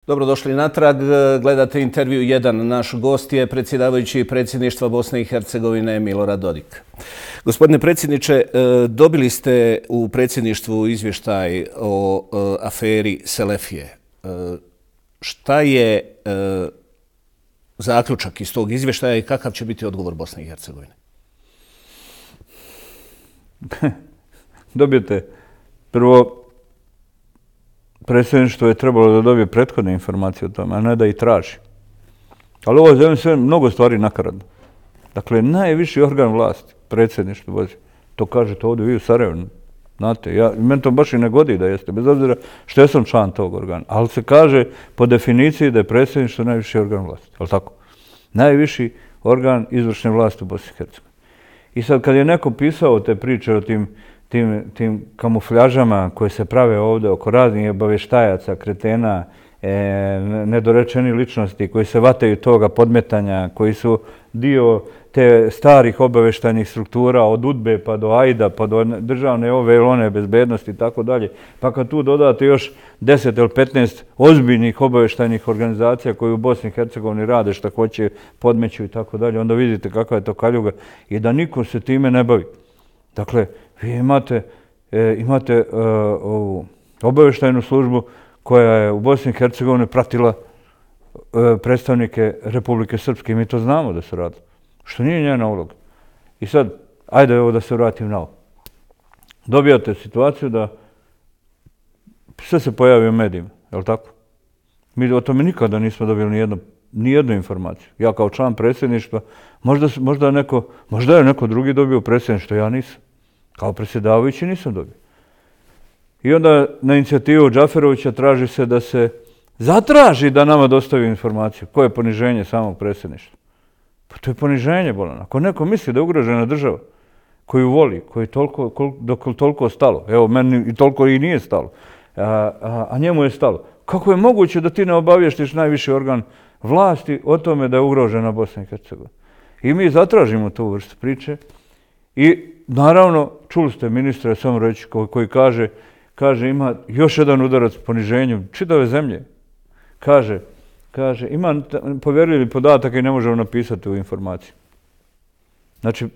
Dobrodošli natrag. Gledate intervju 1. Naš gost je predsjedavajući predsjedništva Bosne i Hercegovine Milorad Dodik. Gospodine predsjedniče, dobili ste u predsjedništvu izvještaj o aferi Selefije. Šta je zaključak iz tog izvještaja i kakav će biti odgovor Bosne i Hercegovine? Dobijete prvo. Predsjedništvo je trebalo da dobije prethodne informacije o tome, a ne da ih traži. Ali ovo je sve mnogo stvari nakaradno. Dakle, najviši organ vlasti, predsjedništvo vozi. To kažete ovdje vi u Sarajevu. Znate, meni to baš i ne godi da jeste, bez obzira što ja sam član tog organa. Ali se kaže po definiciji da je predsjedništvo najviši organ vlasti. Ali tako? Najviši organ izvršne vlasti u Bosni i Hercegovini. I sad kad je neko pisao te priče o tim kamufljažama koje se prave ovdje oko raznih obavještajaca, kretena, nedorečeni ličnosti koji se vataju toga podmetanja, koji su dio te starih obavještajnih struktura od UDBE pa do AIDA, pa do državne ove ili one bezbednosti i tako dalje. Pa kad tu dodate još 10 ili 15 ozbiljnih obavještajnih organizacija koji u Bosni i Hercegovini rade šta hoće, podmeću i tako dalje, onda vidite kakva je to kaljuga i da niko se time ne bavi. Dakle, vi imate ovu obavještajnu službu koja je u Bosni i Hercegovini pratila predstavnike Republike Srpske i mi to znamo da se radi. Što nije njena uloga. I sad, ajde evo da se vratim na ovo. Dobijate situaciju da sve se pojavi u medijima, je li tako? Mi o tome nikada nismo dobili ni jednu informaciju. Ja kao član predsjedništva, možda je neko drugi dobio predsjedništvo, ja nisam. Kao predsjedavajući nisam dobio. I onda na inicijativu Džaferovića traži se da se zatraži da nama dostavi informaciju. Koje je poniženje samog predsjedništva? Pa to je poniženje, bolan. Ako neko misli da je ugrožena država, koju voli, dok je toliko stalo, evo meni i toliko i nije stalo, a njemu je stalo, kako je moguće da ti ne obavještiš najviši organ vlasti o tome da je ugrožena Bosna i Hercegovina? I mi zatražimo tu vrstu priče i naravno, čuli ste ministra, samo reći, koji kaže ima još jedan udarac poniženju čitave zemlje. Kaže, ima povjerljivi podatak i ne možemo napisati u informaciji. Znači,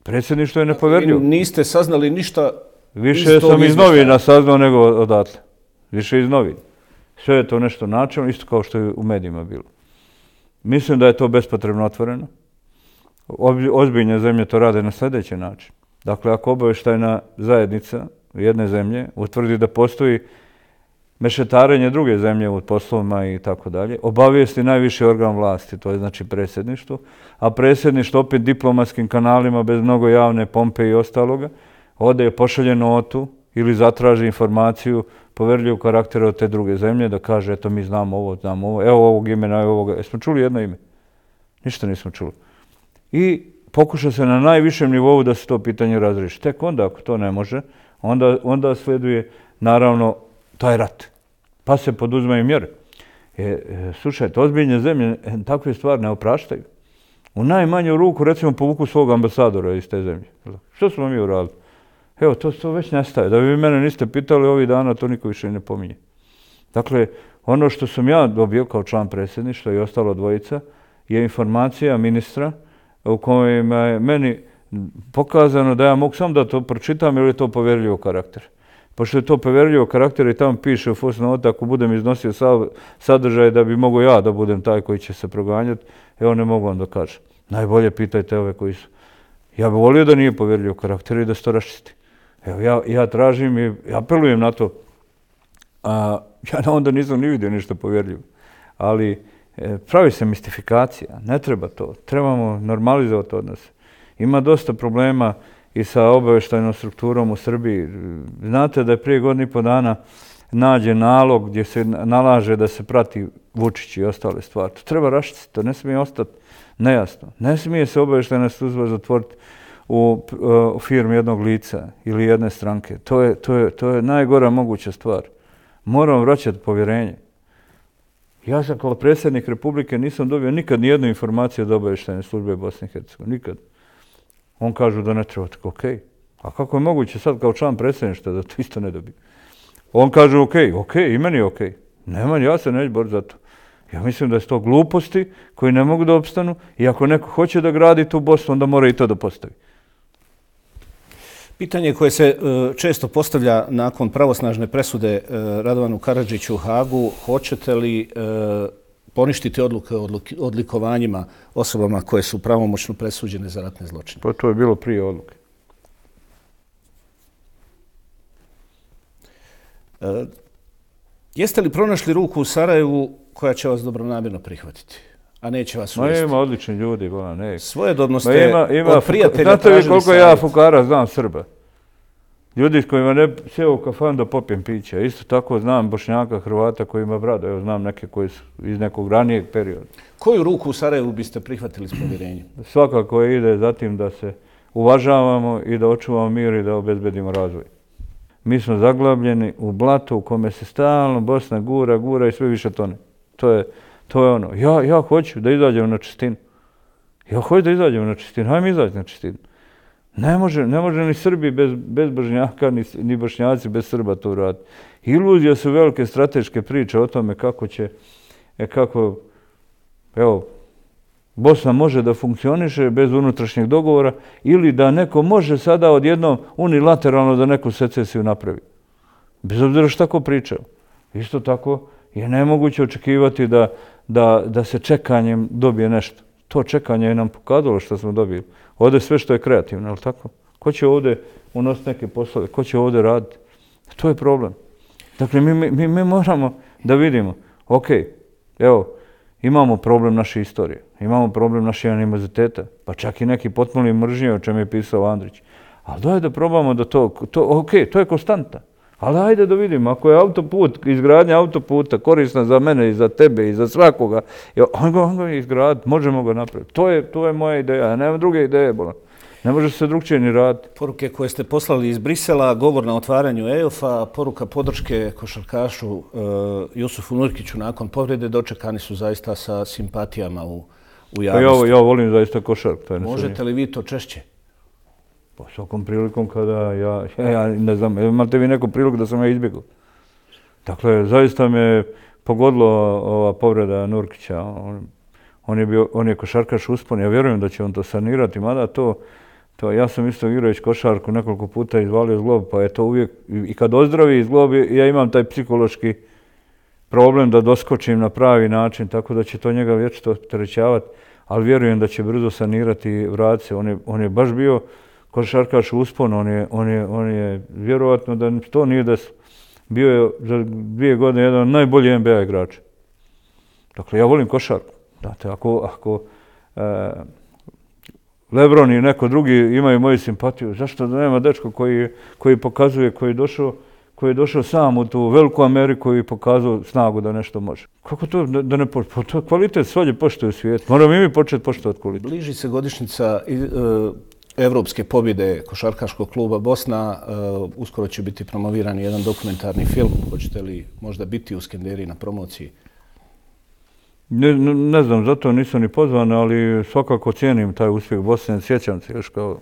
predsjedništvo je nepovjerljivo. Niste saznali ništa više sam iz novina saznao nego odatle. Više iz novina. Sve je to nešto načelno, isto kao što je u medijima bilo. Mislim da je to bespotrebno otvoreno. Ozbiljne zemlje to rade na sljedeći način. Dakle, ako obavještajna zajednica jedne zemlje utvrdi da postoji mešetarenje druge zemlje u poslovima i tako dalje, obavijesti najviši organ vlasti, to je znači predsjedništvo, a predsjedništvo opet diplomatskim kanalima bez mnogo javne pompe i ostaloga, ode je pošalje notu ili zatraži informaciju poverljivog karaktera od te druge zemlje da kaže eto mi znamo ovo, evo ovog imena, evo ovoga. Jesmo čuli jedno ime? Ništa nismo čuli. I pokuša se na najvišem nivou da se to pitanje razriješi. Tek onda, ako to ne može, onda sleduje, naravno, taj rat. Pa se poduzmaju mjere. Slušajte, ozbiljne zemlje takve stvari ne opraštaju. U najmanju ruku, recimo, povuku svog ambasadora iz te zemlje. Što smo mi uradili? Evo, to već nestaje. Da vi mene niste pitali ovih dana, to niko više ne pominje. Dakle, ono što sam ja dobio kao član predsjedništva i ostalo dvojica je informacija ministra u kojima je meni pokazano da ja mogu sam da to pročitam ili je to povjerljivo karakter. Pošto je to povjerljivo karakter i tamo piše u fusnoti ako budem iznosio sadržaj da bi mogo ja da budem taj koji će se proganjati, evo ne mogu vam da kažem. Najbolje pitajte ove koji su. Ja bih volio da nije povjerljivo karakter i da se to raščisti. Evo ja tražim i apelujem na to. Ja onda nisam ni vidio ništa povjerljivo. Ali pravi se mistifikacija, ne treba to. Trebamo normalizovati odnose. Ima dosta problema i sa obavještajnom strukturom u Srbiji. Znate da je prije godinu i po dana nađe nalog gdje se nalaže da se prati Vučić i ostale stvari. To treba raščistiti, to ne smije ostati nejasno. Ne smije se obavještajna služba zatvoriti u firmi jednog lica ili jedne stranke. To je najgora moguća stvar. Moramo vraćati povjerenje. Ja sam kao predsjednik Republike nisam dobio nikad nijednu informaciju od obavještajne službe Bosne i Hercegovine. Nikad. On kažu da ne treba, tako okej. A kako je moguće sad kao član predsjedništva da to isto ne dobije? On kaže okej, i meni je okej. Nema, ja se neću boriti za to. Ja mislim da je to gluposti koji ne mogu da opstanu i ako neko hoće da gradi tu Bosnu, onda mora i to da postavi. Pitanje koje se često postavlja nakon pravosnažne presude Radovanu Karadžiću u Hagu, hoćete li poništiti odluke o odlikovanjima osobama koje su pravomoćno presuđene za ratne zločine? Pa to je bilo prije odluke. Jeste li pronašli ruku u Sarajevu koja će vas dobronamjerno prihvatiti, a neće vas uvesti? Ima odlični ljudi, ne. Svojedobno ste od prijatelja znate tražili vi koliko savjet. ja fukara znam Srba? Ljudi s kojima ne sjeo u kafan da popijem pića. Isto tako znam Bošnjaka, Hrvata koji ima brada. Evo znam neke koji su iz nekog ranijeg perioda. Koju ruku u Sarajevu biste prihvatili s povjerenjem? Svakako ide za tim da se uvažavamo i da očuvamo mir i da obezbedimo razvoj. Mi smo zaglabljeni u blatu u kome se stalno Bosna gura i sve više tone. To je ono. Ja hoću da izađemo na čistinu. Hajmo izaći na čistinu. Ne može ni Srbi bez Bošnjaka, ni Bošnjaci bez Srba to uraditi. Iluzija su velike strateške priče o tome kako Bosna može da funkcioniše bez unutrašnjeg dogovora ili da neko može sada odjednom unilateralno da neku secesiju napravi. Bez obzira što tako pričao. Isto tako je nemoguće očekivati da se čekanjem dobije nešto. To čekanje je nam pokazalo što smo dobili. Ovdje sve što je kreativno, je li tako? Ko će ovdje unositi neke poslove? Ko će ovdje raditi? To je problem. Dakle, mi moramo da vidimo, evo, imamo problem naše istorije, imamo problem naše animoziteta, pa čak i neki potpuni mržnje, o čem je pisao Andrić. Ali daj da probamo da to je konstanta. Ali ajde da vidimo, ako je izgradnja autoputa korisna za mene i za tebe i za svakoga, on ga izgraditi, možemo ga napraviti. To je moja ideja, ja nemam druge ideje, ne može se drugčije ni raditi. Poruke koje ste poslali iz Brisela, govor na otvaranju EOF-a, poruka podrške košarkašu Jusufu Nurkiću nakon povrede, dočekani su zaista sa simpatijama u javnosti. Ja volim zaista košarku. Možete li vi to češće? Po svakom prilikom kada ja ne znam, imate vi neku priliku da sam ja izbjegao. Dakle, zaista me pogodilo ova povreda Nurkića. On je košarkaš uspon, ja vjerujem da će on to sanirati, mada ja sam isto igrajući košarku nekoliko puta izvalio zglob, pa je to uvijek, i kad ozdravi zglob, ja imam taj psihološki problem da doskočim na pravi način, tako da će to njega vječito opterećavati, ali vjerujem da će brzo sanirati i vratiti se. On je baš bio košarkaš uspon, on je vjerovatno da to nije desilo. Bio je za 2 godine jedan od najboljih NBA igrača. Dakle, ja volim košarku. Znate, ako Lebron i neko drugi imaju moju simpatiju, zašto da nema dečko koji pokazuje, koji je došao sam u tu veliku Ameriku i pokazao snagu da nešto može. Kako to da ne poštuje? To je kvalitet svojeg poštuje u svijetu. Moramo i mi početi poštovati kvalitet. Bliži se godišnjica evropske pobjede košarkaškog kluba Bosna. Uskoro će biti promoviran jedan dokumentarni film. Hoćete li možda biti u Skenderiji na promociji? Ne znam, zato nisam ni pozvan, ali svakako cijenim taj uspjeh Bosne. Sjećam se još kao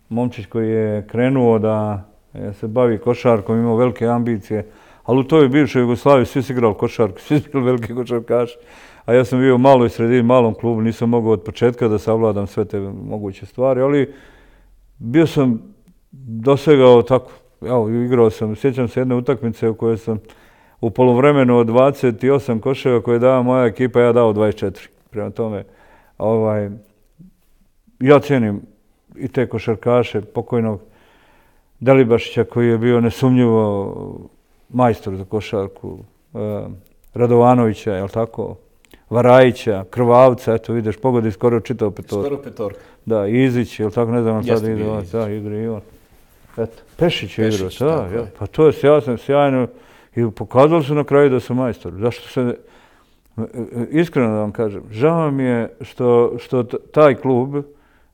momčić koji je krenuo da se bavi košarkom, imao velike ambicije, ali u toj bivšoj Jugoslaviji svi su igrali košarku, svi su bili veliki košarkaši. A ja sam bio u maloj sredini, malom klubu, nisam mogao od početka da savladam sve te moguće stvari, ali bio sam dosegao tako, igrao sam, sjećam se jedne utakmice u kojoj sam u poluvremenu od 28 koševa koje dava moja ekipa, ja dao 24. Prema tome, ja cijenim i te košarkaše, pokojnog Delibašića koji je bio nesumnjivo majstor za košarku, Radovanovića, jel tako, Varajića, Krvavca, eto vidiš, pogodi skoro čitao petorku. Skoro petorka. Da, Izić, jel tako, ne znam, sad ide on, da, igra i on. Eto, Pešić je igrao, pa to je sjajno. I pokazali su na kraju da su majstori. Zašto se, iskreno da vam kažem, žao mi je što taj klub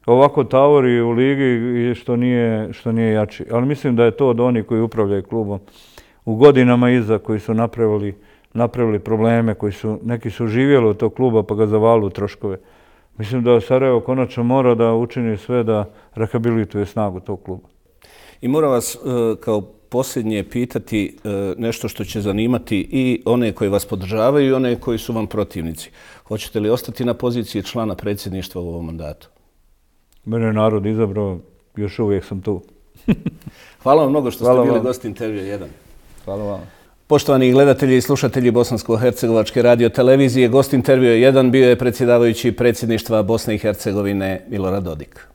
ovako tavori u ligi i što nije jači. Ali mislim da je to od onih koji upravljaju klubom u godinama iza, koji su napravili probleme, neki su živjeli od tog kluba pa ga zavali u troškove. Mislim da Sarajevo konačno mora da učini sve da rehabilituje snagu tog kluba. I moram vas kao posljednje pitati nešto što će zanimati i one koji vas podržavaju i one koji su vam protivnici. Hoćete li ostati na poziciji člana predsjedništva u ovom mandatu? Mene je narod izabrao, još uvijek sam tu. Hvala vam mnogo što ste bili gost Intervjua 1. Hvala vam. Poštovani gledatelji i slušatelji Bosansko-hercegovačke radio televizije, gost Intervjua 1 bio je predsjedavajući predsjedništva Bosne i Hercegovine Milorad Dodik.